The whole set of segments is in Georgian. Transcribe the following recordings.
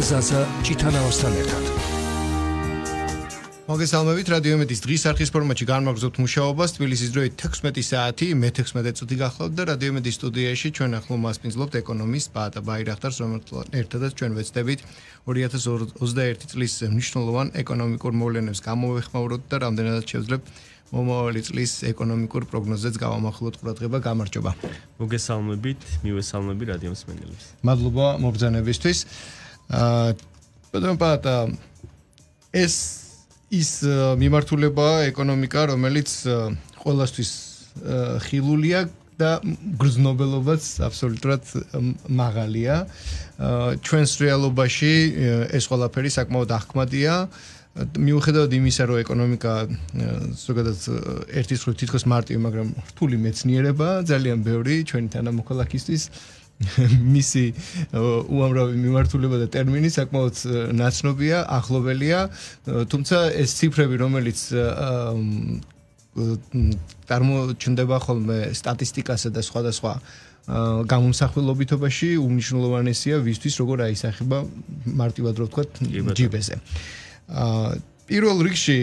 ზაზა ჭითანაოსთან ერთად. მოგესალმებით, რადიო იმედის დღის არხის ფორმატში განმაგზავნებთ მუშაობას. თბილისის დროით 16 საათი, მე 16 წუთი გახლავთ და რადიო იმედის სტუდიაში ჩვენ ახლა მასპინძლობთ ეკონომისტ ბაატა ბაირახტარს, რომელთან ერთადაც ჩვენ ვეცდებით 2021 წლის მნიშვნელოვან ეკონომიკურ მოვლენებს გამოვეხმაუროთ და რამდენადაც შევძლებთ მომავალი წლის ეკონომიკურ პროგნოზებს გავამახვილოთ ყურადღება. გამარჯობა. მოგესალმებით, მივესალმები რადიო მსმენელებს. მადლობა მობრძანებისთვის. ბატონო ეს ის მიმართულება ეკონომიკა, რომელიც ყველასთვის ხილულია და გრძნობელობაც აბსოლუტურად მაღალია. ჩვენს რეალობაში ეს ყველაფერი საკმაოდ ახკმადია. მიუხედავად იმისა, რომ ეკონომიკა ზოგადად ერთის მხრივ თითქოს მარტივი, მაგრამ რთული მეცნიერება, ძალიან ბევრი ჩვენი თანამოქალაქისთვის მისი უამრავი მიმართულება და ტერმინი საკმაოდ ნაცნობია, ახლობელია, თუმცა ეს ციფრები, რომელიც წარმოჩნდება ხოლმე სტატისტიკასა და სხვადასხვა გამომსახველობითობაში, უმნიშვნელოვანესია ვისთვის, როგორ აისახება მარტივად რო ვთქვათ ჯიბეზე. პირველ რიგში,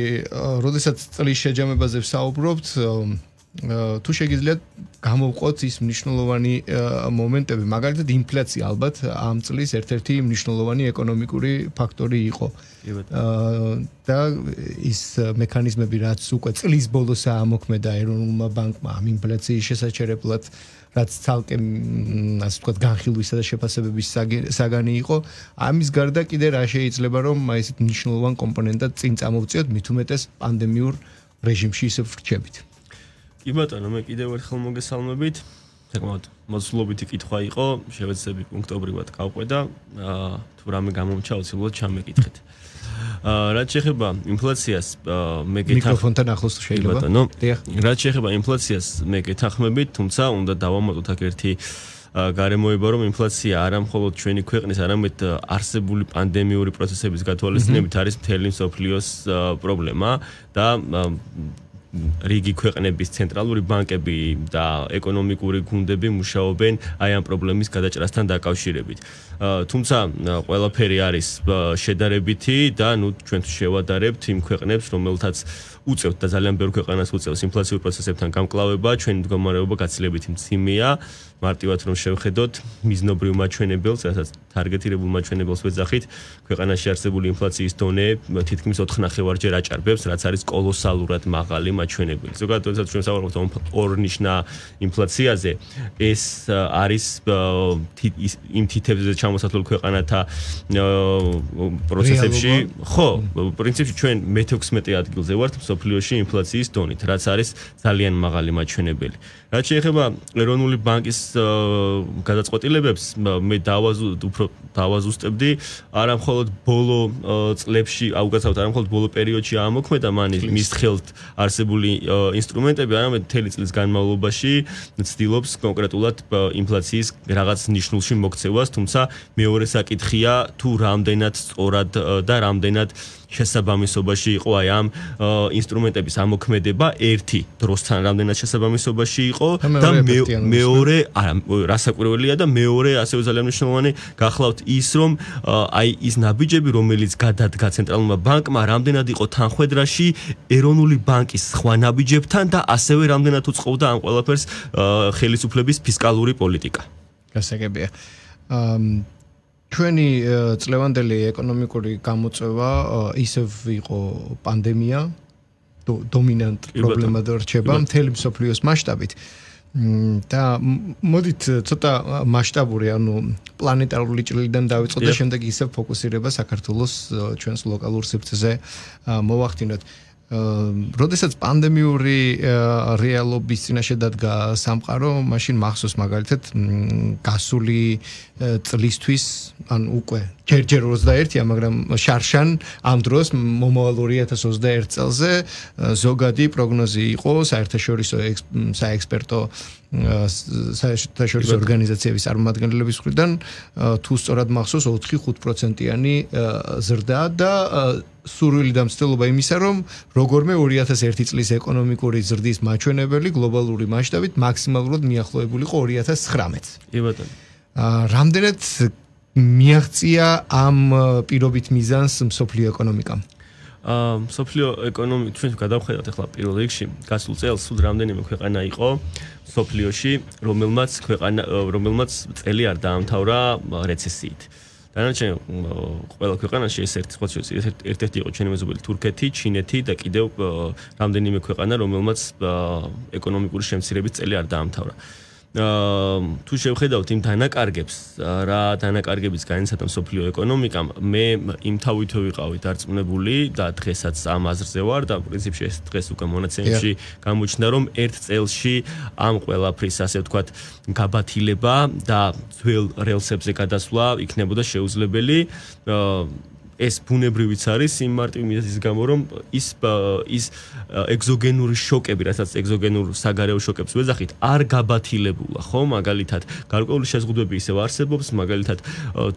როდესაც წლის შეჯამებაზე ვსაუბრობთ, თუ შეგიძლიათ გამოვყოთ ის მნიშვნელოვანი მომენტები, მაგალითად ინფლაცია ალბათ ამ წლის ერთ-ერთი მნიშვნელოვანი ეკონომიკური ფაქტორი იყო. და ის მექანიზმები, რაც უკვე წლის ბოლოს ამოქმედა ეროვნულმა ბანკმა ამ ინფლაციის შესაჩერებლად, რაც ცალკე ასე ვთქვათ განხილვისა და შეფასებების საგანი იყო, ამის გარდა კიდე რა შეიძლება რომ ესეთ მნიშვნელოვან კომპონენტად წინ წამოვწიოთ, მით უმეტეს პანდემიურ რეჟიმში ისევ ვრჩებით. კი ბატონო, მე კიდევ ერთხელ მოგესალმებით. საკმაოდ მოსულობითი კითხვა იყო, შევეცდები პუნქტობრივად გავყვე, თუ რამე გამომჩა, უცებად ჩამეკითხეთ. რაც შეეხება ინფლაციას, მე მიკროფონთან ახლოს შეიძლება. ბატონო, რაც შეეხება ინფლაციას, მე გეთანხმებით, თუმცა უნდა დავამატოთ აქ ერთი გარემოება, რომ ინფლაცია არა მხოლოდ ჩვენი ქვეყნის, არამედ არსებული პანდემიური პროცესების გათვალისწინებით არის მთელი მსოფლიოს პრობლემა და რიგი ქვეყნების ცენტრალური ბანკები და ეკონომიკური გუნდები მუშაობენ აი ამ პრობლემის გადაჭრასთან დაკავშირებით. თუმცა ყველაფერი არის შედარებითი და ჩვენ შევადარებთ იმ ქვეყნებს, რომელთაც უწევთ და ძალიან ბევრ ქვეყანას უწევს ინფლაციურ პროცესებთან გამკლავება, ჩვენი მდგომარეობა გაცილებით მძიმეა. მარტივად რომ შევხედოთ მიზნობრივ მაჩვენებელს, რასაც თარგეტირებულ მაჩვენებელს ვეძახით, ქვეყანაში არსებული ინფლაციის დონე თითქმის 4.5-ჯერ აჭარბებს, რაც არის კოლოსალურად მაღალი მაჩვენებელი. ზოგადად, როდესაც ჩვენ საუბრობთ ორნიშნა ინფლაციაზე, ეს არის იმ თითებზე ჩამოსათვლელ ქვეყანათა პროცესებში, ხო, პრინციპში ჩვენ მე-16 ადგილზე ვართ მსოფლიოში ინფლაციის დონით, რაც არის ძალიან მაღალი მაჩვენებელი. რაც შეეხება ეროვნული ბანკის გადაწყვეტილებებს, მე დავაზუსტებდი, არა მხოლოდ ბოლო წლებში, აუგაცავთ, არა მხოლოდ ბოლო პერიოდში ამოქმედა მის ხელთ არსებული ინსტრუმენტები, არამედ მთელი წლის განმავლობაში ცდილობს კონკრეტულად ინფლაციის რაღაც ნიშნულში მოქცევას, თუმცა მეორე საკითხია, თუ რამდენად სწორად და რამდენად შესაბამისობაში იყო აი ამ ინსტრუმენტების ამოქმედება ერთი დროსთან რამდენად შესაბამისობაში იყო და მეორე რასაკვირველია და მეორე ასევე ძალიან მნიშვნელოვანი გახლავთ ის რომ აი ის ნაბიჯები რომელიც გადადგა ცენტრალურმა ბანკმა რამდენად იყო თანხვედრაში ეროვნული ბანკის სხვა ნაბიჯებთან და ასევე რამდენად უწყობდა ამ ყველაფერს ხელისუფლების ფისკალური პოლიტიკა. გასაგებია. ჩვენი წლევანდელი ეკონომიკური გამოწვევა ისევ იყო პანდემია, დომინანტ პრობლემად რჩება მთელი მსოფლიოს მასშტაბით. და მოდით ცოტა მასშტაბური, ანუ პლანეტარული ჭრილიდან დავიწყოთ და შემდეგ ისევ ფოკუსირება საქართველოს ჩვენს ლოკალურ სივრცეზე მოვახდინოთ. როდესაც პანდემიური რეალობის წინაშე დადგა სამყარო, მაშინ მახსოვს მაგალითად გასული წლისთვის, ან უკვე ჯერჯერ 21-ია, მაგრამ შარშან ამ დროს მომავალ 2021 წელზე ზოგადი პროგნოზი იყო საერთაშორისო საექსპერტო საერთაშორისო ორგანიზაციების წარმომადგენლების მხრიდან, თუ სწორად მახსოვს 4-5%-იანი ზრდა და სურვილი და მცდელობა იმისა, რომ როგორმე 2001 წლის ეკონომიკური ზრდის მაჩვენებელი გლობალური მასშტაბით მაქსიმალურად მიახლოებული იყო 2019-ს. კი ბატონო. რამდენად მიაღწია ამ პირობით მიზანს მსოფლიო ეკონომიკამ? მსოფლიო ეკონომიკა ჩვენ გადავხედავთ ახლა პირველ რიგში გასულ წელს სულ რამდენიმე ქვეყანა იყო მსოფლიოში, რომელმაც წელი არ დაამთავრა რეცესიით. დანარჩენ ყველა ქვეყანაში ეს ერთ-ერთი იყო ჩვენი მეზობელი თურქეთი, ჩინეთი და კიდევ რამდენიმე ქვეყანა, რომელმაც ეკონომიკური შემცირების წელი არ დაამთავრა. თუ შევხედავთ იმ დანაკარგებს, რა დანაკარგების განიცადა მსოფლიო ეკონომიკამ, მე იმთავითო ვიყავი დარწმუნებული და დღესაც ამ აზრზე ვარ და პრინციპში ეს დღეს უკვე მონაცემებში გამოჩნდა, რომ ერთ წელში ამ ყველაფრის ასე ვთქვათ გაბათილება და ძველ რელსებზე გადასვლა იქნებოდა შეუძლებელი. ეს ბუნებრივიც არის იმ მარტივი მიზეზის გამო, რომ ის ეგზოგენური შოკები, რასაც ეგზოგენურ საგარეო შოკებს ვეძახით, არ გაბათილებულა, ხო? მაგალითად, გარკვეული შეზღუდვები ისევ არსებობს, მაგალითად,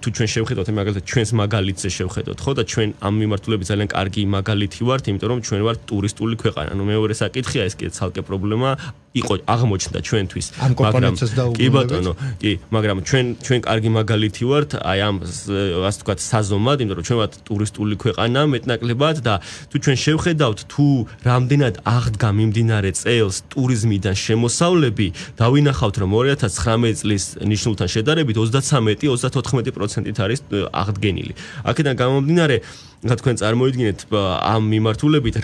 თუ ჩვენ შევხედოთ, მაგალითად, ჩვენს მაგალითზე შევხედოთ, ხო? და ჩვენ ამ მიმართულებით ძალიან კარგი მაგალითი ვართ, იმიტომ რომ ჩვენ ვართ ტურისტული ქვეყანა. ნუ მეორე საკითხია, ეს კიდე ცალკე პრობლემა იყო აღმოჩნდა ჩვენთვის, მაგრამ კი ბატონო, კი, მაგრამ ჩვენ კარგი მაგალითი ვართ, აი ამ ასე ვთქვათ საზომად, იმიტომ რომ ჩვენ ვართ ტურისტული ქვეყანა მეტნაკლებად და თუ ჩვენ შევხედავთ თუ რამდენად აღდგა მიმდინარე წელს ტურიზმიდან შემოსავლები, დავინახავთ რომ 2019 წლის ნიშნულთან შედარებით 33-34% არის აღდგენილი. აქედან გამომდინარე რა თქვენ წარმოიდგინეთ ამ მიმართულებით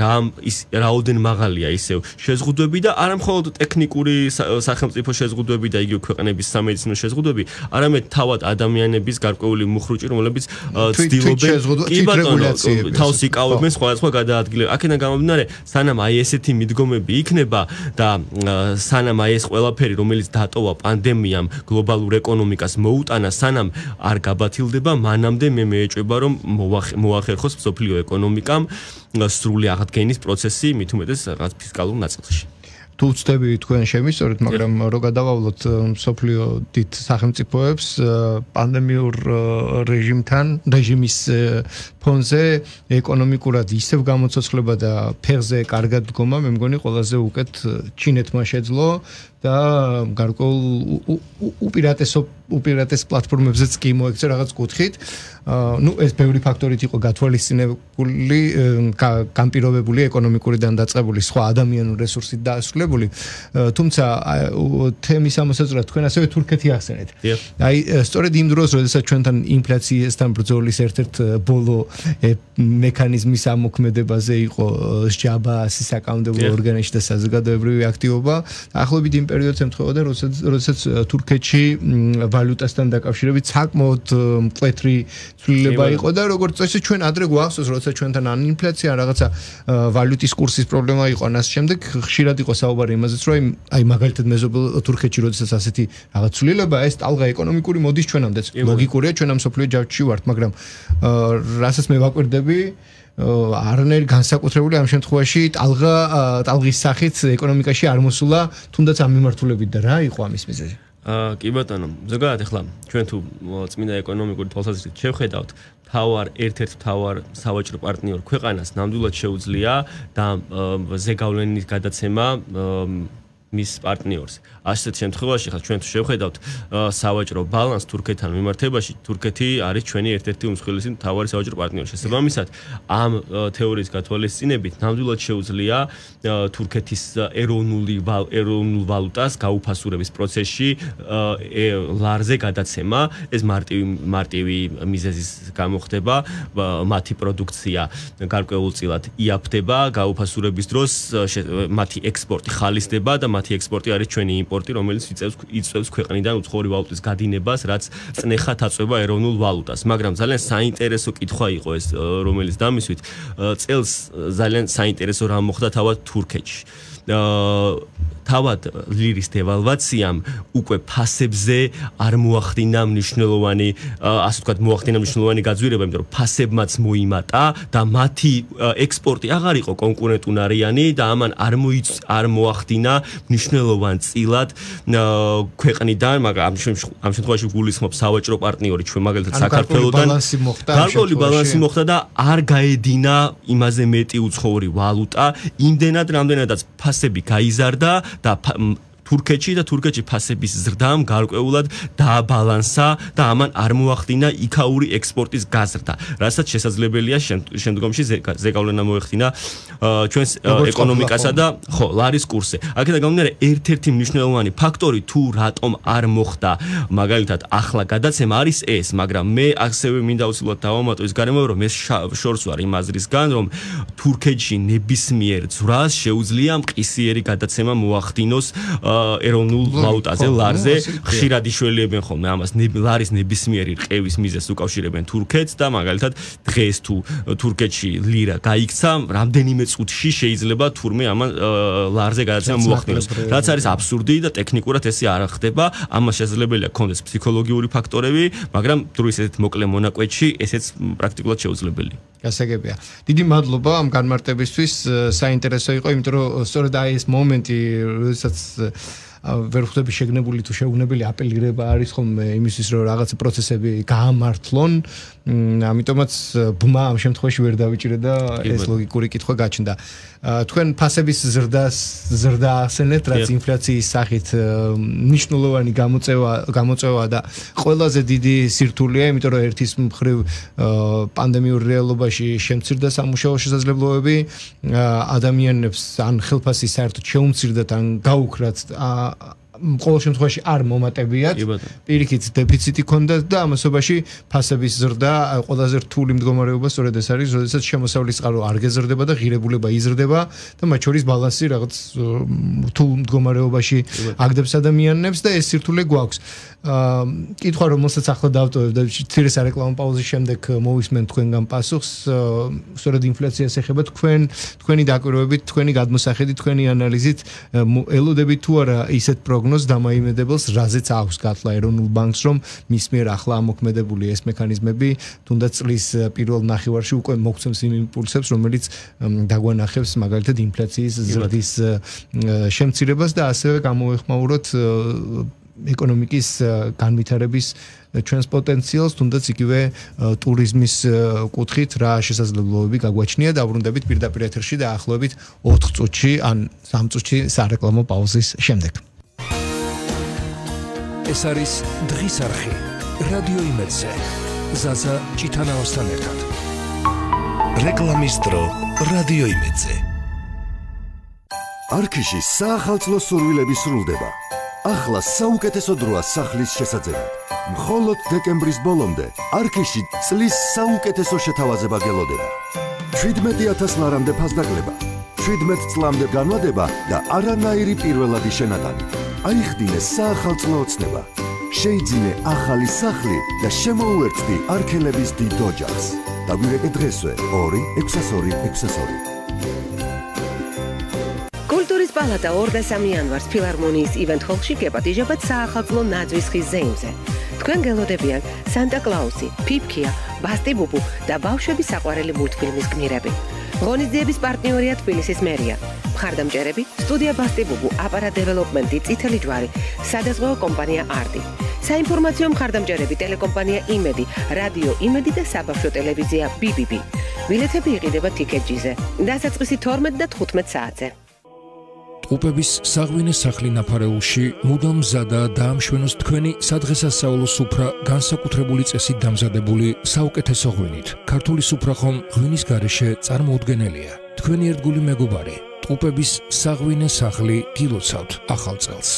რაოდენ მაღალია ისევ შეზღუდვები და არა მხოლოდ ტექნიკური სახელმწიფო შეზღუდვები და იგივე ქვეყნების სამედიცინო შეზღუდვები, არამედ თავად ადამიანების გარკვეული მუხრუჭი, რომლებიც ცდილობენ თავს იკავებენ სხვადასხვა გადაადგილებას. აქედან გამომდინარე, სანამ აი ესეთი მიდგომები იქნება და სანამ აი ეს ყველაფერი, რომელიც დატოვა პანდემიამ გლობალურ ეკონომიკას მოუტანა, სანამ არ გაბათილდება, მანამდე მე მეეჭვება რომ მოახერხოს მსოფლიო ეკონომიკამ სრული აღდგენის პროცესი, მით უმეტეს რაღაც ფისკალურ ნაწილში. თუ ვწდები თქვენ შემისწორეთ, მაგრამ რო გადავავლოთ მსოფლიო დიდ სახელმწიფოებს პანდემიურ რეჟიმის ფონზე ეკონომიკურად ისევ გამოცოცხლება და ფეხზე კარგად დგომა, მე მგონი ყველაზე უკეთ ჩინეთმა შეძლო და გარკვეულ უპირატეს პლატფორმებზეც კი მოექცა რაღაც კუთხით. ნუ ეს ბევრი ფაქტორით იყო გათვალისწინებული, განპირობებული ეკონომიკური დაწყებული სხვა ადამიანური რესურსით დაასრულებული, თუმცა თემის ამოსაწვრად თქვენ ასევე თურქეთი ახსენეთ. აი სწორედ იმ დროს, როდესაც ჩვენთან ინფლაციასთან ბრძოლის ერთ-ერთ ბოლო მექანიზმის ამოქმედებაზე იყო სჯაბა საკანონმდებლო ორგანოში და საზოგადოებრივი აქტივობა, ახლობით იმ პერიოდს ემთხვეოდა, როდესაც თურქეთში ვალუტასთან დაკავშირებით საკმაოდ მკვეთრი ცვლილება იყო და როგორც წესი ჩვენ ადრე გვახსოვს, როცა ჩვენთან ან ინფლაცია, ან რაღაცა ვალუტის კურსის პრობლემა იყო, ან ასე შემდეგ, ხშირად იყო საუბარი იმაზეც, რომ აი მაგალითად მეზობელ თურქეთში, როდესაც ასეთი რაღაც ცვლილება, ეს ტალღა ეკონომიკური მოდის ჩვენამდეც. ლოგიკურია, ჩვენ ამ სოფლიო ჯაჭვში ვართ, მაგრამ რასაც მე ვაკვირდები, არანაირი განსაკუთრებული ამ შემთხვევაში ტალღის სახით ეკონომიკაში არ მოსულა, თუნდაც ამ მიმართულებით და რა იყო ამის მიზეზი? კი ბატონო, ზოგადად ახლა ჩვენ თუ წმინდა ეკონომიკური თვალსაზრისით შევხედავთ, ერთ-ერთ მთავარ სავაჭრო პარტნიორ ქვეყანას ნამდვილად შეუძლია და ზეგავლენის გადაცემა მის პარტნიორს. ასეთ შემთხვევაში ხა ჩვენ თუ შევხედავთ სავაჭრო ბალანს თურქეთთან მიმართებაში, თურქეთი არის ჩვენი ერთ-ერთი უმსხვილესი მთავარი სავაჭრო პარტნიორი. შესაბამისად, ამ თეორიის გათვალისწინებით ნამდვილად შეუძლია თურქეთის ეროვნულ ვალუტას გაუფასურების პროცესში ლარზე გადაცემა. ეს მარტივი მიზეზის გამო ხდება, მათი პროდუქცია გარკვეულწილად იაფდება, გაუფასურების დროს მათი ექსპორტი ხალისდება და მათი ექსპორტი არის ჩვენი იმპორტი, რომელიც იწვევს ქვეყნიდან უცხოური ვალუტის გადინებას, რაც წნეხად აწვევა ეროვნულ ვალუტას. მაგრამ ძალიან საინტერესო კითხვა იყო ეს, რომელიც დამისვით წელს ძალიან საინტერესო რამ მოხდა თავად თურქეთში. თავად ლირის დევალვაციამ უკვე ფასებზე არ მოახდინა მნიშვნელოვანი, ასე ვთქვათ, მნიშვნელოვანი გაძვირება, იმიტომ რომ ფასებმაც მოიმატა და მათი ექსპორტი აღარ იყო კონკურენტუნარიანი და ამან არ მოახდინა მნიშვნელოვან წილად ქვეყნიდან, მაგრამ ამ შემთხვევაში გულისხმობ სავაჭრო პარტნიორი ჩვენ მაგალითად საქართველოდან გარკვეული ბალანსი მოხდა და არ გაედინა იმაზე მეტი უცხოური ვალუტა, იმდენად რამდენადაც ფასები გაიზარდა და თურქეთში და თურქეთში ფასების ზრდამ გარკვეულად დააბალანსა და ამან არ მოახდინა იქაური ექსპორტის გაზრდა, რასაც შესაძლებელია შემდგომში ზეგავლენა მოეხდინა ჩვენს ეკონომიკასა და ლარის კურსზე. აქედან გამომდინარე, ერთ-ერთი მნიშვნელოვანი ფაქტორი თუ რატომ არ მოხდა მაგალითად ახლა გადაცემა არის ეს, მაგრამ მე ასევე მინდა უცბად დავამატო ის გარემო, რომ ეს შორს ვარ იმ აზრისგან, რომ თურქეთში ნებისმიერ ძვრას შეუძლია მყისიერი გადაცემა მოახდინოს ეროვნულ ვალუტაზე, ლარზე. ხშირად იშველიებენ ხოლმე ამას, ლარის ნებისმიერი რყევის მიზეზს უკავშირებენ თურქეთს და მაგალითად დღეს თუ თურქეთში ლირა გაიქცა, რამდენიმე წუთში შეიძლება თურმე ამან ლარზე გადაცემა მოახდინოს. რაც არის აბსურდი და ტექნიკურად ესე არ ხდება. ამას შესაძლებელია ქონდეს ფსიქოლოგიური ფაქტორები, მაგრამ დროის ესეთ მოკლე მონაკვეთში ესეც პრაქტიკულად შეუძლებელია. გასაგებია. დიდი მადლობა ამ განმარტებისთვის. საინტერესო იყო, იმიტომ რომ სწორედ აი ეს მომენტი, როდესაც ვერ ხვდები შეგნებული თუ შეუგნებელი აპელირება არის ხოლმე იმისთვის, რომ რაღაცა პროცესები გაამართლონ. ამიტომაც ბმა ამ შემთხვევაში ვერ დავიჭირე და ეს ლოგიკური კითხვა გაჩნდა. თქვენ ფასების ზრდა ახსენეთ, რაც ინფლაციის სახით მნიშვნელოვანი გამოწვევა და ყველაზე დიდი სირთულეა, იმიტომ რომ ერთის მხრივ პანდემიურ რეალობაში შემცირდა სამუშაო შესაძლებლობები, ადამიანებს ან ხელფასი საერთოდ შეუმცირდათ, ან გაუქრათ ყოველ შემთხვევაში არ მომატებიათ, პირიქით დეფიციტი ქონდათ და ამასობაში ფასების ზრდა ყველაზე რთული მდგომარეობა სწორედ ეს არის, როდესაც შემოსავლის წყარო არ გეზრდება და ღირებულება იზრდება და მათ შორის ბალანსი რაღაც რთულ მდგომარეობაში აგდებს ადამიანებს და ეს სირთულე გვაქვს. კითხვა რომელსაც ახლა დავტოვებ და ცირე სარეკლამო პაუზის შემდეგ მოვისმენ თქვენგან პასუხს, სწორედ ინფლაციას ეხება თქვენი დაკვირვებით, თქვენი გადმოსახედით, თქვენი ანალიზით ელოდებით თუ არა ისეთ პროგნოზს დამაიმედებელს, რაზეც აქვს გათვლა ეროვნულ ბანკს, რომ მის მიერ ახლა ამოქმედებული ეს მექანიზმები თუნდაც წლის პირველ ნახევარში უკვე მოგცემს იმ იმპულსებს, რომელიც დაგვანახებს მაგალითად ინფლაციის ზრდის შემცირებას და ასევე გამოვეხმაუროთ ეკონომიკის განვითარების ჩვენს პოტენციალს, თუნდაც იგივე ტურიზმის კუთხით რა შესაძლებლობები გაგვაჩნია. დაბრუნდებით პირდაპირ ეთერში და ახლობით 4 წუთში ან 3 წუთში სარეკლამო პაუზის შემდეგ. ეს არის დღის არხი რადიო იმედზე. ზაზა ჭიტანავასთან ერთად. რეკლამის დრო რადიო იმედზე. არქიში საახალწლო სურვილები სრულდება. ახლა საუკეთესო დროა სახლის შესაძლებლად. მხოლოდ დეკემბრის ბოლომდე არქიში წლის საუკეთესო შეთავაზება გელოდება. 17,000 ლარამდე ფასდაკლება, 17 წლამდე განმავლობა და არანაირი პირველადი შენატანი. აიხდინე საახალწლო ოცნება. შეიძინე ახალი სახლი და შემოუერთდი არქელების დიდ ოჯახს. დაგვირეკე დღესვე 2-602-602. კულტურის პალატა 2-3 იანვარს ფილარმონიის ივენთ ჰოლში გეპატიჟებათ საახალწლო ნაძვის ხის ზეიმზე. თქვენ გელოდებიან სანტა კლაუსი, ფიფქია, ბასტი ბუბუ და ბავშვების საყვარელი მულტფილმის გმირები. ღონისძიების პარტნიორია თბილისის მერია. მხარდამჭერები სტუდია ბასტი ბუბუ, აპარატ დეველოპმენტი, წითელი ჯვარი, სადაზღვეო კომპანია არტი. საინფორმაციო მხარდამჭერები ტელეკომპანია იმედი, რადიო იმედი და საბავშვო ტელევიზია BBB. ბილეთები იყიდება TicketJet-ზე. დასაწყისი 12 და 15 საათზე. ტყუპების საღვინე სახლი ნაფარეულში მუდამ მზადაა დაამშვენოს თქვენი სადღესასწაულო სუფრა განსაკუთრებული წესით დამზადებული საუკეთესო ღვინით. ქართული სუფრა ხომ ღვინის გარეშე წარმოუდგენელია. თქვენი ერთგული მეგობარი, ტყუპების საღვინე სახლი გილოცავთ ახალ წელს.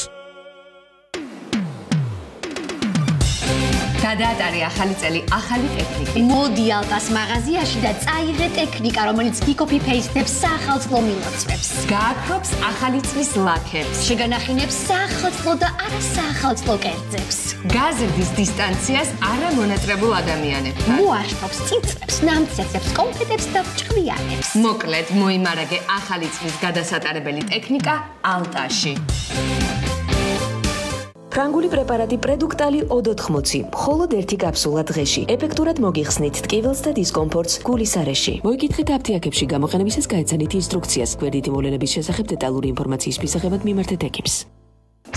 გადაატარე ახალი წელი ახალი ტექნიკით. მოდი ალტას მაღაზიაში და წაიღე ტექნიკა, რომელიც გიკოპი-პეისტებს საახალწლო მილოცვებს. გააქრობს ახალი წლის ლაქებს. შეგანახინებს საახალწლო და არასაახალწლო კერძებს. გაზრდის დისტანციას არა მონატრებულ ადამიანებთან. მოაშფობს წიწრებს, ნამცეცებს, კონფეტებს და ჭკვიანებს. მოკლედ, მოიმარაგე ახალი წლის გადასატარებელი ტექნიკა ალტაში. ფრანგული პრეპარატი პრედუქტალი O80, მხოლოდ ერთი კაფსულა დღეში. ეფექტურად მოგიხსნით ტკივილს და დისკომფორტს გულის არეში. მოიკითხეთ აფთიაქებში გამოყენებისას გაეცანით ინსტრუქციას. გვერდითი მოვლენების შესახებ დეტალური ინფორმაციის მისაღებად მიმართეთ ექიპს.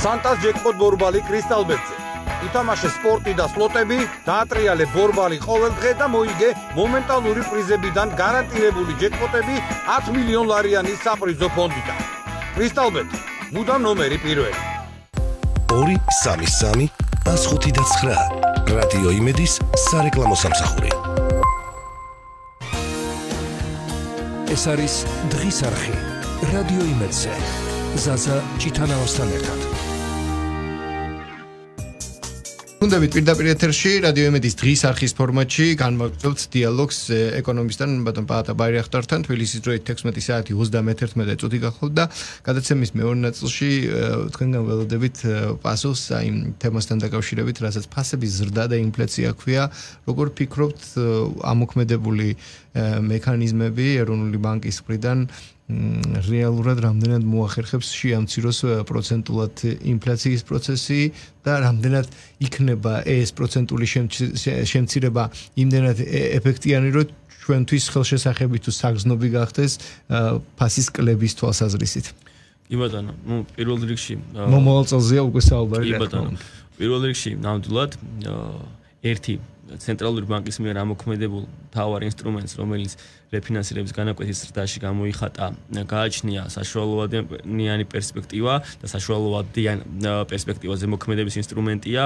სანტას ჯეკპოტ ბორბალი კრისტალბეტზე. ითამაშე სპორტი და სლოტები, დაატრიალე ბორბალი ყოველ დღე და მოიგე მომენტალური პრიზებიდან გარანტირებული ჯეკპოტები 10 მილიონ ლარიანის საპრიზო ფონდიდან. კრისტალბეტი, მუდამ ნომერი პირველი. 233 105 რადიო იმედის სარეკლამო სამსახური. ეს არის დღის არხი რადიო იმედზე. ზაზა ჭიტანავასთან ერთად. უნდებით პირდაპირ ეთერში რადიო იმედის დღის არხის ფორმატში განმაგრძობთ დიალოგს ეკონომისტთან ბატონ პაატა ბაირახტართან. თბილისის დროით 16 საათი 31 წუთი გახლავთ და გადაცემის მეორე ნაწილში თქვენგან ველოდებით პასუხს იმ თემასთან დაკავშირებით, რასაც ფასების ზრდა და ინფლაცია ქვია. როგორ ფიქრობთ, ამოქმედებული მექანიზმები ეროვნული ბანკის მხრიდან რეალურად რამდენად მოახერხებს შეამციროს პროცენტულად ინფლაციის პროცესი და რამდენად იქნება ეს პროცენტული შემცირება იმდენად ეფექტიანი, რომ ჩვენთვის ხელშესახები თუ საგრძნობი გახდეს ფასის კლების თვალსაზრისით. კი ბატონო, პირველ რიგში მომავალ წელზეა უკვე საუბარი. კი ბატონო, პირველ რიგში ნამდვილად ერთი ცენტრალური ბანკის მიერ ამოქმედებულ მთავარ ინსტრუმენტს, რომელიც რეფინანსირების განაკვეთის ზრდაში გამოიხატა, გააჩნია საშუალოვადიანი პერსპექტივა და საშუალოვადიან პერსპექტივაზე მოქმედების ინსტრუმენტია.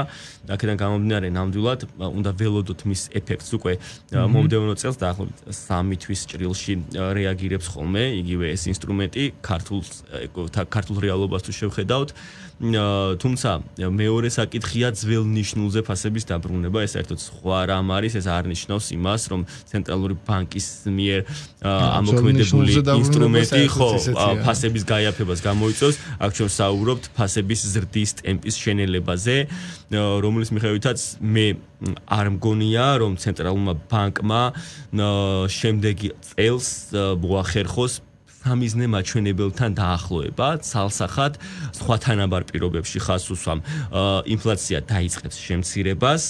აქედან გამომდინარე, ნამდვილად უნდა ველოდოთ მის ეფექტს უკვე მომდევნო წელს დაახლოებით 3 თვის ჭრილში რეაგირებს ხოლმე იგივე ეს ინსტრუმენტი ქართულ რეალობას თუ შევხედავთ. თუმცა მეორე საკითხია ძველ ნიშნულზე ფასების დაბრუნება, ეს საერთოდ სხვა რამ არის, ეს არ ნიშნავს იმას, რომ ცენტრალური ბანკის მიერ ამოქმედებული ინსტრუმენტი ხო ფასების გაიაფებას გამოიწვევს. აქ ჩვენ საუბრობთ ფასების ზრდის ტემპის შენელებაზე, რომლის მიხედვითაც მე არ მგონია, რომ ცენტრალურმა ბანკმა შემდეგი წელს მოახერხოს სამიზნე მაჩვენებელთან დაახლოება, ცალსახად სხვა თანაბარ პირობებში ხაზს უსვამ. ინფლაცია დაიწყებს შემცირებას,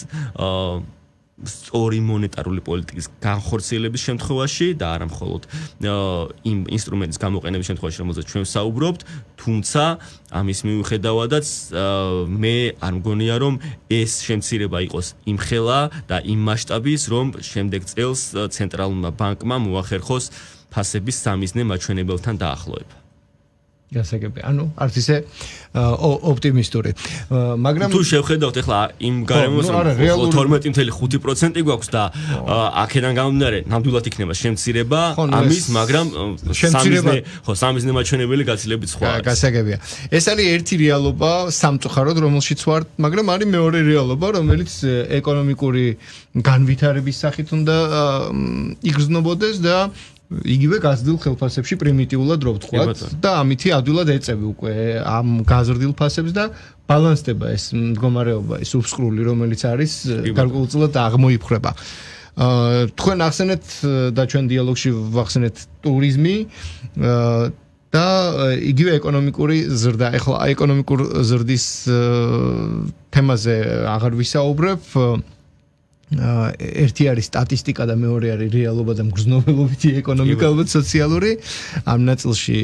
სწორი მონეტარული პოლიტიკის განხორციელების შემთხვევაში და არა მხოლოდ იმ ინსტრუმენტის გამოყენების შემთხვევაში, რომელზეც ჩვენ საუბრობთ, თუმცა ამის მიუხედავადაც მე არ მგონია, რომ ეს შემცირება იყოს იმხელა და იმ მასშტაბის, რომ შემდეგ წელს ცენტრალურმა ბანკმა მოახერხოს ფასების სამიზნე მაჩვენებელთან დაახლოება. გასაგები. ანუ არც ისე ოპტიმისტური. მაგრამ თუ შევხედავთ ახლა იმ გარემოს, რომ 12.5% გვაქვს და აქედან გამომდინარე, ნამდვილად იქნება შემცირება ამის, მაგრამ სამიზნე მაჩვენებელი გაცილებით სხვა არის. გასაგებია. ეს არის ერთი რეალობა სამწუხაროდ, რომელშიც ვართ, მაგრამ არის მეორე რეალობა, რომელიც ეკონომიკური განვითარების სახით უნდა იგრძნობოდეს და იგივე გაზრდილ ხელფასებში პრიმიტიულად რო ვთქვათ და ამითი ადვილად ეწევი უკვე ამ გაზრდილ ფასებს და ბალანსდება ეს მდგომარეობა, ეს უსკრული, რომელიც არის გარკვეულწილად აღმოიფხრება. თქვენ ახსენეთ და ჩვენ დიალოგში ვახსენეთ ტურიზმი და იგივე ეკონომიკური ზრდა. ეხლა ეკონომიკურ ზრდის თემაზე აღარ ვისაუბრებ. ერთი არის სტატისტიკა და მეორე არის რეალობა და მგრძნობელობითი ეკონომიკა, ალბათ სოციალური. ამ ნაწილში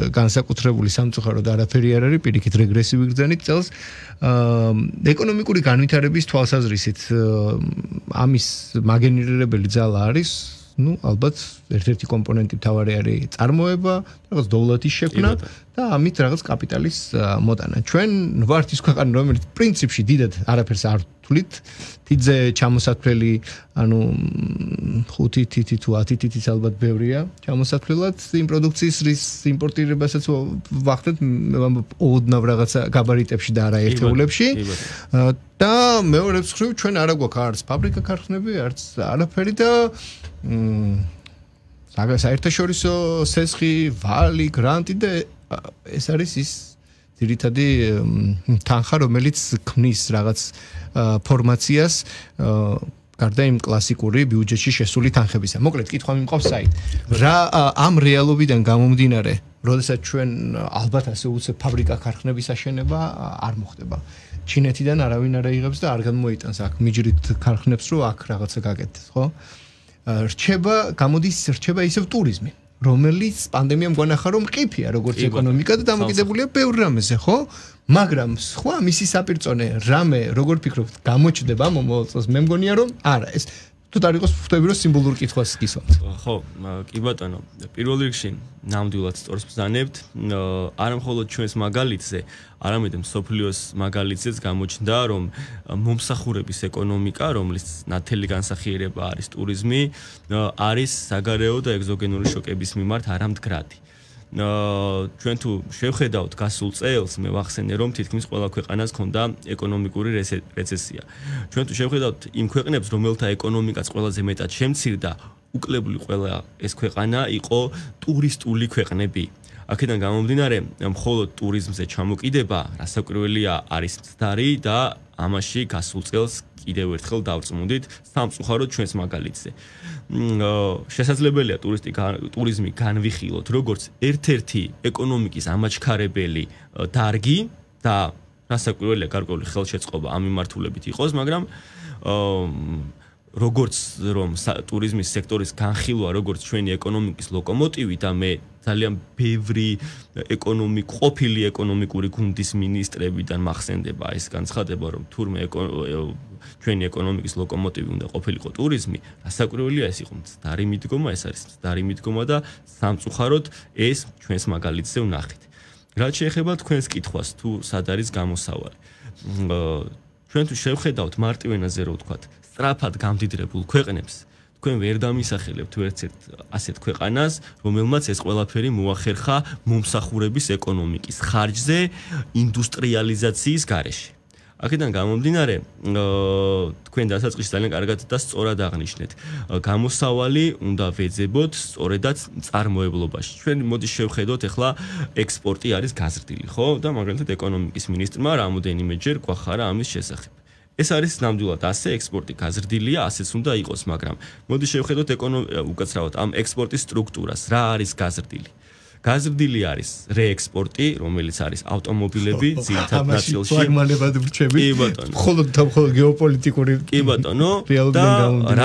განსაკუთრებული სამწუხაროდ არაფერი არ არის, პირიქით რეგრესივი გრძნით წელს. ეკონომიკური განვითარების თვალსაზრისით ამის მაგენერირებელი ძალა არის, ალბათ ერთ-ერთი კომპონენტი მთავარი არის წარმოება, რაღაც დოვლათის შექმნა და ამით რაღაც კაპიტალის მოტანა. ჩვენ ვართ ის ქვეყანა, რომელიც პრინციპში დიდად არაფერს არ თulit თიძე ჩამოსათვლელი, ანუ 5 თითი თუ 10 თითიც ალბათ ბევრია ჩამოსათვლელად იმ პროდუქციის რის იმპორტირებასაც ვახდეთ ოდნავ რაღაცა გაბარიტებში და არა ერთეულებში. და მეორე მხრივ ჩვენ არა გვაქვს არც ფაბრიკა ქარხნები, არც არაფერი და საერთაშორისო სესხი, ვალი, გრანტი და ეს არის ის ძირითადი თანხა, რომელიც ქმნის რაღაც ფორმაციას გარდა იმ კლასიკური ბიუჯეტში შესული თანხებისა. მოკლედ, კითხვა მიმყავს საით. რა ამ რეალობიდან გამომდინარე, როდესაც ჩვენ ალბათ ასე უცებ ფაბრიკა ქარხნების აშენება არ მოხდება. ჩინეთიდან არავინ არ აიღებს და არ გამოიტანს აქ მიჯრით ქარხნებს, რომ აქ რაღაცა გაკეთდეს, ხო? რჩება ისევ ტურიზმი, რომელიც პანდემიამ გვანახა, რომ მყიფია როგორც ეკონომიკა და დამოკიდებულია ბევრ რამეზე, ხო? მაგრამ სხვა მისი საპირწონე რამე, როგორ ფიქრობთ, გამოჩნდება მომავალ წელს? მე მგონია, რომ არა, ეს თუ არ იყოს ხვდები რომ სიმბოლურ კითხვას გისვამთ. ხო, კი ბატონო, პირველ რიგში ნამდვილად სწორს ბრძანებთ, არა მხოლოდ ჩვენს მაგალითზე, არამედ მსოფლიოს მაგალითზეც გამოჩნდა, რომ მომსახურების ეკონომიკა, რომლის ნათელი განსახიერება არის ტურიზმი, არის საგარეო და ეგზოგენური შოკების მიმართ არამდგრადი. ჩვენ თუ შევხედავთ გასულ წელს, მე ვახსენე რომ თითქმის ყველა ქვეყანას ჰქონდა ეკონომიკური რეცესია. ჩვენ თუ შევხედავთ იმ ქვეყნებს, რომელთა ეკონომიკაც ყველაზე მეტად შემცირდა, უკლებული ყველა ეს ქვეყანა იყო ტურისტული ქვეყნები. აქედან გამომდინარე, მხოლოდ ტურიზმზე ჩამოკიდება, რასაკვირველია, არის მცდარი და ამაში გასულ წელს კიდევ ერთხელ დავწმუნდით სამწუხაროდ ჩვენს მაგალითზე. შესაძლებელია ტურიზმი განვიხილოთ როგორც ერთ-ერთი ეკონომიკის ამაჩქარებელი დარგი და რასაკვირველია გარკვეული ხელშეწყობა ამ მიმართულებით იყოს, მაგრამ როგორც რომ ტურიზმის სექტორის განხილვა როგორც ჩვენი ეკონომიკის ლოკომოტივი და მე ძალიან ბევრი ყოფილი ეკონომიკური გუნდის მინისტრებიდან მახსენდება ეს განცხადება რომ თურმე ჩვენი ეკონომიკის ლოკომოტივი უნდა ყოფილიყო ტურიზმი, რასაკვირველია ეს იყო მცდარი მიდგომა, ეს არის მცდარი მიდგომა და სამწუხაროდ ეს ჩვენს მაგალითზე ვნახეთ. რაც შეეხება თქვენს კითხვას, თუ სად არის გამოსავალი. ჩვენ თუ შევხედავთ მარტივენაზე რო ვთქვათ, სწრაფად გამდიდრებულ ქვეყნებს, თქვენ ვერ დამისახელებთ ერთ-ერთ ასეთ ქვეყანას, რომელმაც ეს ყველაფერი მოახერხა მომსახურების ეკონომიკის ხარჯზე, ინდუსტრიალიზაციის გარეშე. აქედან გამომდინარე, თქვენ დასაწყისში ძალიან კარგად და სწორად აღნიშნეთ, გამოსავალი უნდა ვეძებოთ სწორედაც მწარმოებლობაში. ჩვენ მოდი შევხედოთ, ახლა ექსპორტი არის გაზრდილი, ხო? და მაგალითად ეკონომიკის მინისტრმა რამოდენიმეჯერ გვახარა ამის შესახებ. ეს არის ნამდვილად ასე, ექსპორტი გაზრდილია, ასეც უნდა იყოს, მაგრამ მოდი შევხედოთ უკაცრავად ამ ექსპორტის სტრუქტურას, რა არის გაზრდილი. გაზრდილი არის რეექსპორტი, რომელიც არის ავტომობილები, ძირითად ნაწილში. ფლაგმანებად ვრჩები. კი ბატონო. მხოლოდ გეოპოლიტიკური. კი ბატონო. და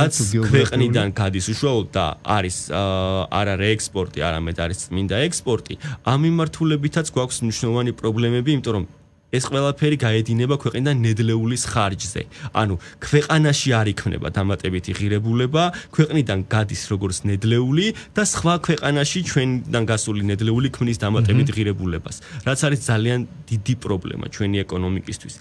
რაც ქვეყნიდან გადის უშუალოდ და არის არა რეექსპორტი, არამედ არის წმინდა ექსპორტი, ამ მიმართულებითაც გვაქვს მნიშვნელოვანი პრობლემები, იმიტომ რომ ეს ყველაფერი გაედინება ქვეყნიდან ნედლეულის ხარჯზე. ანუ ქვეყანაში არ იქმნება დამატებითი ღირებულება, ქვეყნიდან გადის როგორც ნედლეული და სხვა ქვეყანაში ჩვენიდან გასული ნედლეული ქმნის დამატებით ღირებულებას, რაც არის ძალიან დიდი პრობლემა ჩვენი ეკონომიკისთვის.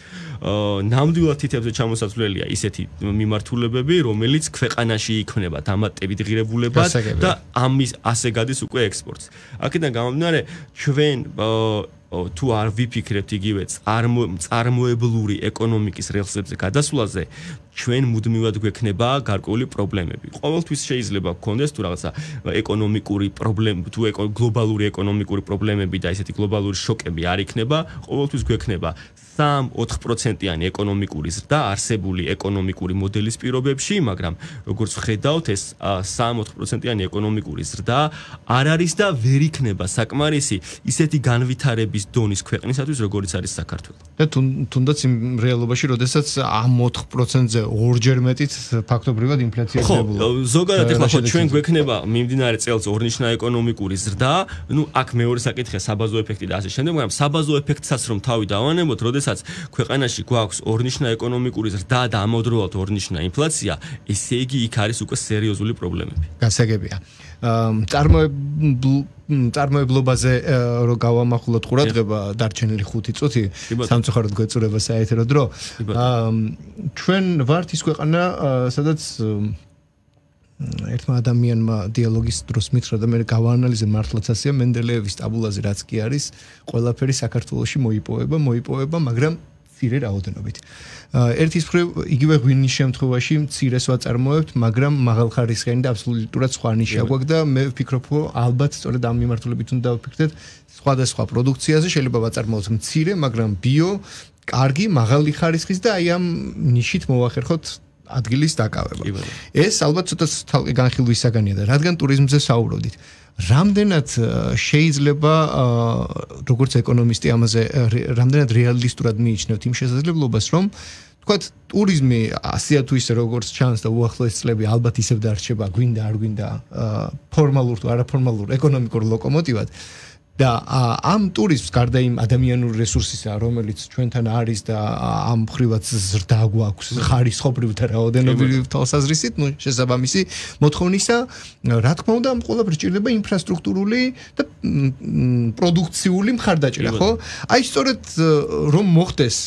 ნამდვილად თითებზე ჩამოსაცვლელია ისეთი მიმართულებები, რომელიც ქვეყანაში იქმნება დამატებით ღირებულებას და ამის ასე გადის უკვე ექსპორტს. აქედან გამომდინარე, ჩვენ თუ არ ვიფიქრებთ იგივე წარმოებლური ეკონომიკის რელსებზე გადასვლაზე, ჩვენ მუდმივად გვექნება გარკვეული პრობლემები. ყოველთვის შეიძლება გქონდეს თუ რაღაცა ეკონომიკური პრობლემა, თუ გლობალური ეკონომიკური პრობლემები და ესეთი გლობალური შოკები არ იქნება, ყოველთვის გვექნება 3-4%-იანი ეკონომიკური ზრდა არსებული ეკონომიკური მოდელის პირობებში, მაგრამ როგორც ხედავთ, ეს 3-4%-იანი ეკონომიკური ზრდა არ არის და ვერ იქნება საკმარისი ისეთი განვითარების დონის ქვეყნისათვის, როგორც არის საქართველო. და თუნდაც იმ რეალობაში, როდესაც ამ 4%-ზე ორჯერ მეტით ფაქტობრივად ინფლაცია ხდება. ხო, ზოგადად ახლა ხო ჩვენ გვექნება მიმდინარე წელს ორნიშნა ეკონომიკური ზრდა, ნუ აქ მეორე საკითხია საბაზო ეფექტი და ასე შემდეგ, მაგრამ საბაზო ეფექტსაც რომ თავი დავანებოთ, როდესაც ქვეყანაში გვაქვს ორნიშნა ეკონომიკური ზრდა და ამავდროულად ორნიშნა ინფლაცია, ესე იგი იქ არის უკვე სერიოზული პრობლემები. გასაგებია. წარმოებლობაზე რო გავამახვილოთ ყურადღება დარჩენილი 5 წუთი, სამწუხაროდ გვეწურება საეთერო დრო. ჩვენ ვართ ის ქვეყანა, სადაც ერთმა ადამიანმა დიალოგის დროს მითხრა და მე გავაანალიზე მართლაც ასეა, მენდელეევის ტაბულაზე რაც კი არის, ყველაფერი საქართველოში მოიპოვება, მაგრამ მცირე რაოდენობით. ერთის მხრივ იგივე ღვინის შემთხვევაში მცირეს ვაწარმოებთ, მაგრამ მაღალხარისხიანი და აბსოლუტურად სხვა ნიშა გვაქვს და მე ვფიქრობ, რომ ალბათ სწორედ ამ მიმართულებით უნდა ვფიქრდეთ სხვადასხვა პროდუქციაზე, შეიძლება ვაწარმოოთ მცირე, მაგრამ ბიო, კარგი, მაღალი ხარისხის და აი ამ ნიშით მოვახერხოთ ადგილის დაკავება. ეს ალბათ ცოტა თალყი განხილვის საგანია და რადგან ტურიზმზე საუბრობდით, რამდენად შეიძლება როგორც ეკონომისტი ამაზე რამდენად რეალისტურად მიიჩნევთ იმ შესაძლებლობას, რომ თქვათ ტურიზმი ასეა თუ ისე როგორც ჩანს და უახლოეს წლები ალბათ ისევ დარჩება, გვინდა არ გვინდა ფორმალურ თუ არაფორმალურ ეკონომიკურ ლოკომოტივად, და ამ ტურიზმს გარდა იმ ადამიანური რესურსისა, რომელიც ჩვენთან არის და ამ ხრივაც ზრდა გვაქვს ხარისხობრივ და რაოდენობრივ თვალსაზრისით, ну შესაბამისი მოთხოვნისა, რა თქმა უნდა, ამ ყველაფერს სჭირდება ინფრასტრუქტურული და პროდუქციული მხარდაჭერა, ხო? აი სწორედ რომ მოხდეს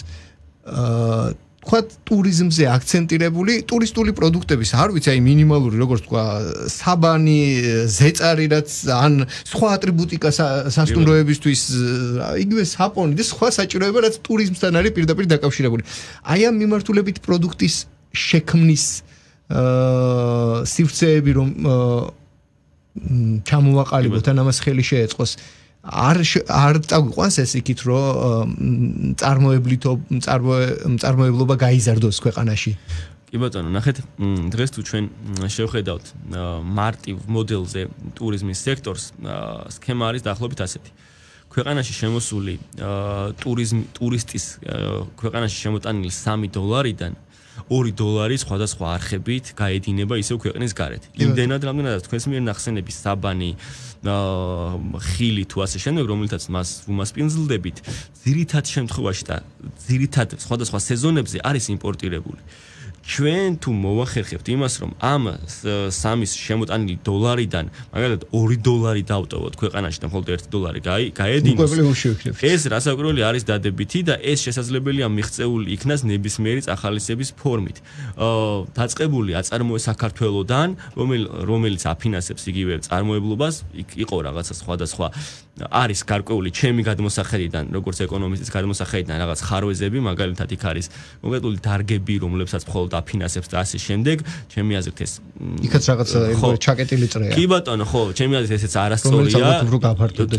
თქვა ტურიზმზე აქცენტირებული ტურისტული პროდუქტების, არ ვიცი, აი მინიმალური, როგორც თქვა, საბანი, ზეწარი, რაც ან სხვა ატრიბუტიკა სასტუმროებისთვის, იგივე საპონი და სხვა საჭიროება, რაც ტურიზმთან არის პირდაპირ დაკავშირებული. აი ამ მიმართულებით პროდუქტის შექმნის სივრცეები რომ ჩამოვაყალიბოთ ან ამას ხელი შეეწყოს არ წაგვიყვანს ეს იქით რომ მწარმოებლობა გაიზარდოს ქვეყანაში. კი ბატონო, ნახეთ, დღეს თუ ჩვენ შევხედავთ მარტივ მოდელზე ტურიზმის სექტორს, სქემა არის დაახლოებით ასეთი. ქვეყანაში შემოსული ტურისტის ქვეყანაში შემოტანილი $3-დან $2 სხვადასხვა არხებით გაედინება ისევ ქვეყნის გარეთ. იმდენად, რამდენადაც თქვენს მიერ ნახსენები საბანი, ხილი თუ ასე შემდეგ, რომელთაც მას უმასპინძლდებით, ძირითად შემთხვევაში და ძირითად სხვადასხვა სეზონებზე არის იმპორტირებული. ჩვენ თუ მოვახერხებთ იმას, რომ ამ სამის შემოტანილი $-დან, მაგალითად $2 დავტოვოთ ქვეყანაში და მხოლოდ $1 გაედინოს, ეს რასაკვირველი არის დადებითი და ეს შესაძლებელია მიღწეული იქნას ნებისმიერი წახალისების ფორმით. დაწყებული აწარმოე საქართველოდან, რომელიც აფინანსებს იგივე წარმოებლობას, იყო რაღაცა სხვადასხვა არის გარკვეული ჩემი გადმოსახედიდან, როგორც ეკონომისტის გადმოსახედიდან რაღაც ხარვეზები, მაგალითად იქ არის კონკრეტული დარგები, რომლებსაც მხოლოდ აფინანსებს და ასე შემდეგ, ჩემი აზრით ეს იქაც რაღაცა ჩაკეტილი წრეა. კი ბატონო, ხო, ჩემი აზრით ესეც არასწორია.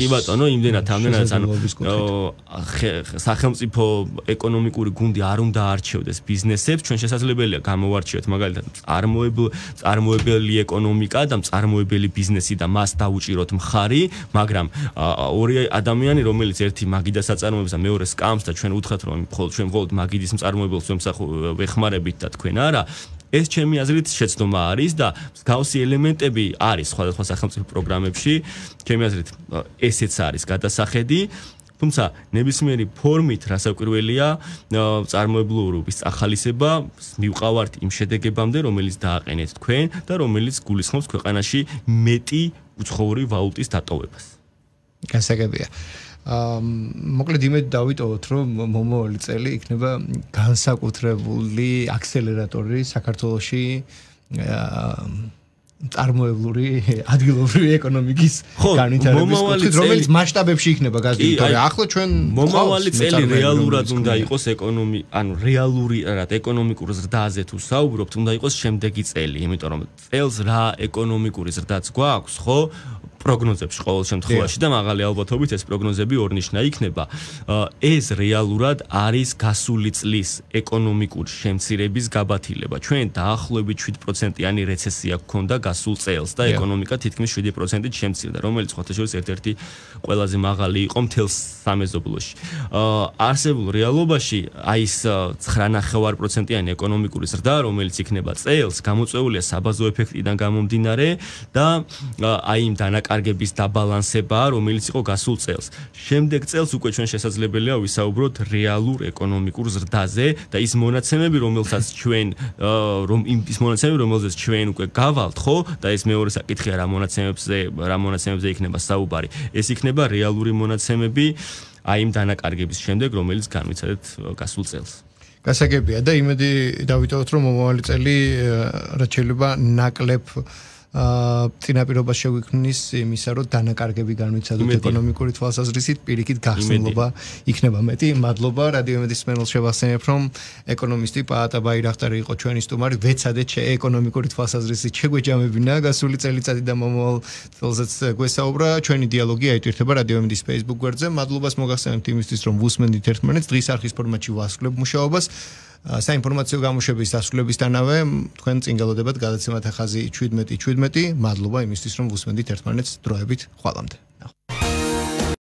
კი ბატონო, იმდენად ამდენად ანუ სახელმწიფო ეკონომიკური გუნდი არ უნდა არჩევდეს ბიზნესებს, ჩვენ შესაძლებელია გამოვარჩიოთ მაგალითად წარმოებელი ეკონომიკა და წარმოებელი ბიზნესი და მას დაუჭიროთ მხარი, მაგრამ ორი ადამიანი, რომელიც ერთი მაგიდას აწარმოებს და მეორე სკამს და ჩვენ უთხრათ რომ ჩვენ მხოლოდ მაგიდის მწარმოებელს ვეხმარებით და თქვენ არა, ეს ჩემი აზრით შეცდომა არის და მსგავსი ელემენტები არის სხვადასხვა სახელმწიფო პროგრამებში, ჩემი აზრით ესეც არის გადასახედი. თუმცა ნებისმიერი ფორმით რასაკვირველია წარმოებლურობის ახალისება მივყავართ იმ შედეგებამდე, რომელიც დააყენეთ თქვენ და რომელიც გულისხმობს ქვეყანაში მეტი უცხოური ვალუტის დატოვებას. გასაგებია. მოკლედ იმედი დავიტოვოთ, რომ მომავალი წელი იქნება განსაკუთრებული აქსელერატორი საქართველოში წარმოებლური ადგილობრივი ეკონომიკის განვითარების კუთხით, რომელიც მასშტაბებში იქნება გაზრდილი, თორე ახლა ჩვენ მომავალი წელი რეალურად უნდა იყოს რეალურად ეკონომიკურ ზრდაზე თუ საუბრობთ, უნდა იყოს შემდეგი წელი, იმიტომ რომ წელს რა ეკონომიკური ზრდაც გვაქვს, ხო? პროგნოზებში ყოველ შემთხვევაში და მაღალი ალბათობით ეს პროგნოზები ორნიშნა იქნება. ეს რეალურად არის გასული წლის ეკონომიკური შემცირების გაბათილება. ჩვენ დაახლოებით 7%-იანი რეცესია გქონდა გასულ წელს და ეკონომიკა თითქმის 7%-ით შემცირდა, რომელიც ხოთაშორის ერთ-ერთი ყველაზე მაღალი იყო მთელს სამეზობლოში. არსებულ რეალობაში აი ეს 9.5%-იანი ეკონომიკური ზრდა, რომელიც იქნება წელს, გამოწვეულია საბაზო ეფექტიდან გამომდინარე და აი იმ კარგების დაბალანსება, რომელიც იყო გასულ წელს. შემდეგ წელს უკვე ჩვენ შესაძლებელია ვისაუბროთ რეალურ ეკონომიკურ ზრდაზე და ის მონაცემები, რომელსაც ჩვენ რომელზეც ჩვენ უკვე გავალთ, ხო? და ეს მეორე საკითხია რა მონაცემებზე იქნება საუბარი. ეს იქნება რეალური მონაცემები აი იმ დანაკარგების შემდეგ, რომელიც განვიცადეთ გასულ წელს. გასაგებია და იმედი დავიტოვოთ, რომ მომავალი წელი რაც შეიძლება ნაკლებ წინაპირობას შეგვიქმნის იმისა, რომ დანაკარგები განვიცადოთ ეკონომიკური თვალსაზრისით, პირიქით გახსნილობა იქნება მეტი. მადლობა რადიო იმედის მსმენელს შევახსენებ, რომ ეკონომისტი პაატა ბაირახტარი იყო ჩვენი სტუმარი, ვეცადეთ ეკონომიკური თვალსაზრისით შეგვეჯამებინა გასული წელიწადი და მომავალ წელზეც გვესაუბრა. ჩვენი დიალოგი აიტვირთება რადიო იმედის Facebook გვერდზე. მადლობას მოგახსენებთ იმისთვის, რომ ვუსმენდით ერთმანეთს, დღის არხის ფორმატში ვასრულებ მუშაობას. საინფორმაციო გამოშვების დასრულებისთანავე თქვენ წინ გელოდებათ გადაცემათა ხაზი 17:17. მადლობა იმისთვის, რომ ვუსმენდით ერთმანეთს დროებით. ხვალამდე.